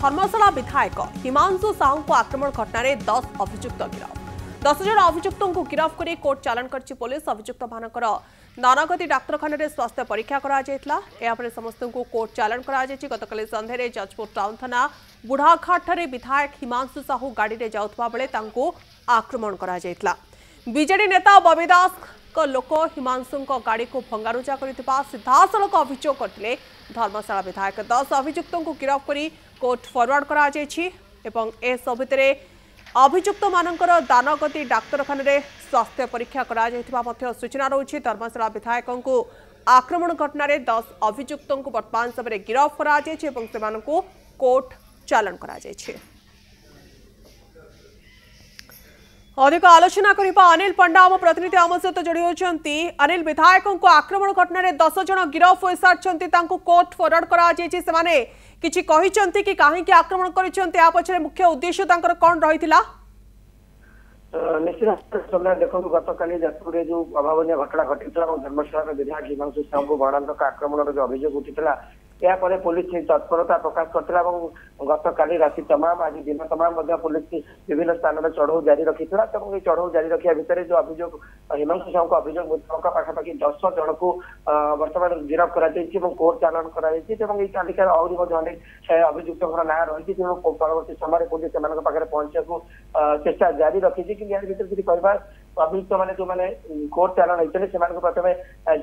ଧର୍ମଶାଳା ବିଧାୟକ ହିମାଂଶୁ ସାହୁଙ୍କୁ ଆକ୍ରମଣ ଘଟଣାରେ 10 ଅଭିଯୁକ୍ତ ଗିରଫ। 10 ଜଣ ଅଭିଯୁକ୍ତଙ୍କୁ ଗିରଫ କରି କୋର୍ଟ ଚାଲାଣ କରିଛି ପୋଲିସ। ଅଭିଯୁକ୍ତମାନଙ୍କର ନାନାଗତି ଡାକ୍ତରଖାନାରେ ସ୍ୱାସ୍ଥ୍ୟ ପରୀକ୍ଷା କରାଯାଇଥିଲା। ଏହାପରେ ସମସ୍ତଙ୍କୁ କୋର୍ଟ ଚାଲାଣ କରାଯାଇଛି। ଗତକାଲି ସନ୍ଧ୍ୟାରେ ଯାଜପୁର ଟାଉନ ଥାନା ବୁଢ଼ାଘାଟଠାରେ ବିଧାୟକ ହିମାଂଶୁ ସାହୁ ଗାଡ଼ିରେ ଯାଉଥିବା ବେଳେ ତାଙ୍କୁ ଆକ୍ରମଣ କରାଯାଇଥିଲା। ବିଜେଡି ନେତା ବବି ଦାସଙ୍କ ଲୋକ ହିମାଂଶୁଙ୍କ ଗାଡ଼ିକୁ ଭଙ୍ଗାରୁଜା କରିଥିବା ସିଧାସଳଖ ଅଭିଯୋଗ କରିଥିଲେ ଧର୍ମଶାଳା ବିଧାୟକ। 10 ଅଭିଯୁକ୍ତଙ୍କୁ ଗିରଫ କରି କୋର୍ଟ ଫରୱାର୍ଡ କରାଯାଇଛି ଏବଂ ଏସବୁ ଭିତରେ ଅଭିଯୁକ୍ତମାନଙ୍କର ଦାନଗତି ଡାକ୍ତରଖାନାରେ ସ୍ୱାସ୍ଥ୍ୟ ପରୀକ୍ଷା କରାଯାଇଥିବା ମଧ୍ୟ ସୂଚନା ରହୁଛି। ଧର୍ମଶାଳା ବିଧାୟକଙ୍କୁ ଆକ୍ରମଣ ଘଟଣାରେ 10 ଅଭିଯୁକ୍ତଙ୍କୁ ବର୍ତ୍ତମାନ ସମୟରେ ଗିରଫ କରାଯାଇଛି ଏବଂ ସେମାନଙ୍କୁ କୋର୍ଟ ଚାଲାଣ କରାଯାଇଛି। ଅଧିକ ଆଲୋଚନା କରିବା ଅନିଲ ପଣ୍ଡା ଆମ ପ୍ରତିନିଧି ଆମ ସହିତ ଯୋଡ଼ି ହେଉଛନ୍ତି। ଅନିଲ, ବିଧାୟକଙ୍କୁ ଆକ୍ରମଣ ଘଟଣାରେ 10 ଜଣ ଗିରଫ ହୋଇସାରିଛନ୍ତି, ତାଙ୍କୁ କୋର୍ଟ ଫରୱାର୍ଡ କରାଯାଇଛି। ସେମାନେ କିଛି କହିଛନ୍ତି କି କାହିଁକି ଆକ୍ରମଣ କରିଛନ୍ତି, ଏହା ପଛରେ ମୁଖ୍ୟ ଉଦ୍ଦେଶ୍ୟ ତାଙ୍କର କ'ଣ ରହିଥିଲା? ନିଶ୍ଚିତ ଭାବରେ ଦେଖନ୍ତୁ, ଗତକାଲି ଯାଜପୁରରେ ଯୋଉ ଅଭାବନୀୟ ଘଟଣା ଘଟିଥିଲା ଏବଂ ଧର୍ମଶାଳାର ବିଧାୟକ ହିମାଂଶୁ ସାହୁଙ୍କୁ ମରଣାନ୍ତକ ଆକ୍ରମଣର ଯୋଉ ଅଭିଯୋଗ ଉଠିଥିଲା, ଏହାପରେ ପୋଲିସ ତତ୍ପରତା ପ୍ରକାଶ କରିଥିଲା ଏବଂ ଗତକାଲି ରାତି ତମାମ ଆଜି ଦିନ ତମାମ ମଧ୍ୟ ପୋଲିସ ବିଭିନ୍ନ ସ୍ଥାନରେ ଚଢଉ ଜାରି ରଖିଥିଲା। ଏବଂ ଏଇ ଚଢଉ ଜାରି ରଖିବା ଭିତରେ ଯୋଉ ଅଭିଯୋଗ ହିମାଂଶୁ ସାହୁଙ୍କ ଅଭିଯୋଗ ମୁତାବକ ପାଖାପାଖି 10 ଜଣକୁ ବର୍ତ୍ତମାନ ଗିରଫ କରାଯାଇଛି ଏବଂ କୋର୍ଟ ଚାଲାଣ କରାଯାଇଛି। ଏବଂ ଏଇ ତାଲିକାରେ ଆହୁରି ମଧ୍ୟ ଅନେକ ଅଭିଯୁକ୍ତଙ୍କର ନାଁ ରହିଛି, ତେଣୁ ପରବର୍ତ୍ତୀ ସମୟରେ ପୋଲିସ ସେମାନଙ୍କ ପାଖରେ ପହଞ୍ଚିବାକୁ ଚେଷ୍ଟା ଜାରି ରଖିଛି। କିନ୍ତୁ ଏହାର ଭିତରେ ଯଦି କହିବା, ଅଭିଯୁକ୍ତ ମାନେ ଯୋଉମାନେ କୋର୍ଟ ଚାଲାଣ ହେଇଛନ୍ତି ସେମାନଙ୍କୁ ପ୍ରଥମେ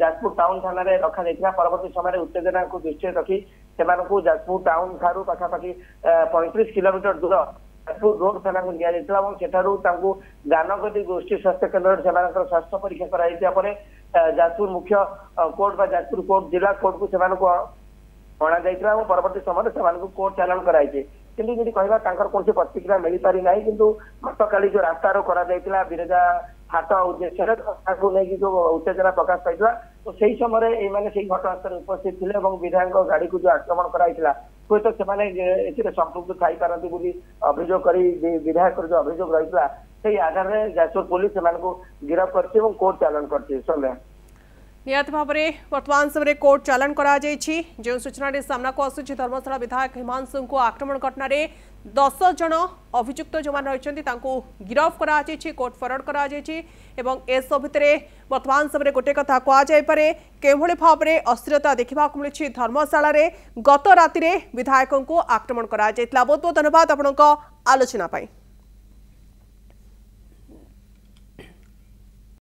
ଯାଜପୁର ଟାଉନ ଥାନାରେ ରଖାଯାଇଥିଲା। ପରବର୍ତ୍ତୀ ସମୟରେ ଉତ୍ତେଜନାକୁ ଦୃଷ୍ଟିରେ ରଖି ସେମାନଙ୍କୁ ଯାଜପୁର ଟାଉନ ଠାରୁ ପାଖାପାଖି 35 କିଲୋମିଟର ଦୂର ଯାଜପୁର ରୋଡ ଥାନାକୁ ନିଆଯାଇଥିଲା ଏବଂ ସେଠାରୁ ତାଙ୍କୁ ଦାନଗଦି ଗୋଷ୍ଠୀ ସ୍ୱାସ୍ଥ୍ୟ କେନ୍ଦ୍ରରେ ସେମାନଙ୍କର ସ୍ୱାସ୍ଥ୍ୟ ପରୀକ୍ଷା କରାଯାଇଥିବା ପରେ ଯାଜପୁର ମୁଖ୍ୟ କୋର୍ଟ ବା ଯାଜପୁର କୋର୍ଟ ଜିଲ୍ଲା କୋର୍ଟକୁ ସେମାନଙ୍କୁ ଅଣାଯାଇଥିଲା ଏବଂ ପରବର୍ତ୍ତୀ ସମୟରେ ସେମାନଙ୍କୁ କୋର୍ଟ ଚାଲାଣ କରାଯାଇଛି। କିନ୍ତୁ ଯଦି କହିବା, ତାଙ୍କର କୌଣସି ପ୍ରତିକ୍ରିୟା ମିଳିପାରି ନାହିଁ। କିନ୍ତୁ ଗତକାଲି ଯୋଉ ରାସ୍ତାରୋକ କରାଯାଇଥିଲା ବିରଜା ହାଟ ଉଦ୍ଦେଶ୍ୟରେ, ତାକୁ ନେଇକି ଯୋଉ ଉତ୍ତେଜନା ପ୍ରକାଶ ପାଇଥିଲା, ତ ସେଇ ସମୟରେ ଏଇମାନେ ସେଇ ଘଟଣାସ୍ଥଳରେ ଉପସ୍ଥିତ ଥିଲେ ଏବଂ ବିଧାୟକଙ୍କ ଗାଡିକୁ ଯୋଉ ଆକ୍ରମଣ କରାଯାଇଥିଲା, ହୁଏତ ସେମାନେ ଏଥିରେ ସମ୍ପୃକ୍ତ ଥାଇପାରନ୍ତି ବୋଲି ଅଭିଯୋଗ କରି ବିଧାୟକର ଯୋଉ ଅଭିଯୋଗ ରହିଥିଲା, ସେଇ ଆଧାରରେ ଯାଜପୁର ପୋଲିସ ସେମାନଙ୍କୁ ଗିରଫ କରିଛି ଏବଂ କୋର୍ଟ ଚାଲାଣ କରିଛି। ସନ୍ଧ୍ୟା, ନିହାତି ଭାବରେ ବର୍ତ୍ତମାନ ସମୟରେ କୋର୍ଟ ଚାଲାଣ କରାଯାଇଛି। ଯେଉଁ ସୂଚନାଟି ସାମ୍ନାକୁ ଆସୁଛି, ଧର୍ମଶାଳା ବିଧାୟକ ହିମାଂଶୁଙ୍କୁ ଆକ୍ରମଣ ଘଟଣାରେ 10 ଜଣ ଅଭିଯୁକ୍ତ ଯେଉଁମାନେ ରହିଛନ୍ତି ତାଙ୍କୁ ଗିରଫ କରାଯାଇଛି, କୋର୍ଟ ଫରୱାର୍ଡ କରାଯାଇଛି। ଏବଂ ଏସବୁ ଭିତରେ ବର୍ତ୍ତମାନ ସମୟରେ ଗୋଟିଏ କଥା କୁହାଯାଇପାରେ, କେଉଁଭଳି ଭାବରେ ଅସ୍ଥିରତା ଦେଖିବାକୁ ମିଳିଛି ଧର୍ମଶାଳାରେ, ଗତ ରାତିରେ ବିଧାୟକଙ୍କୁ ଆକ୍ରମଣ କରାଯାଇଥିଲା। ବହୁତ ବହୁତ ଧନ୍ୟବାଦ ଆପଣଙ୍କ ଆଲୋଚନା ପାଇଁ।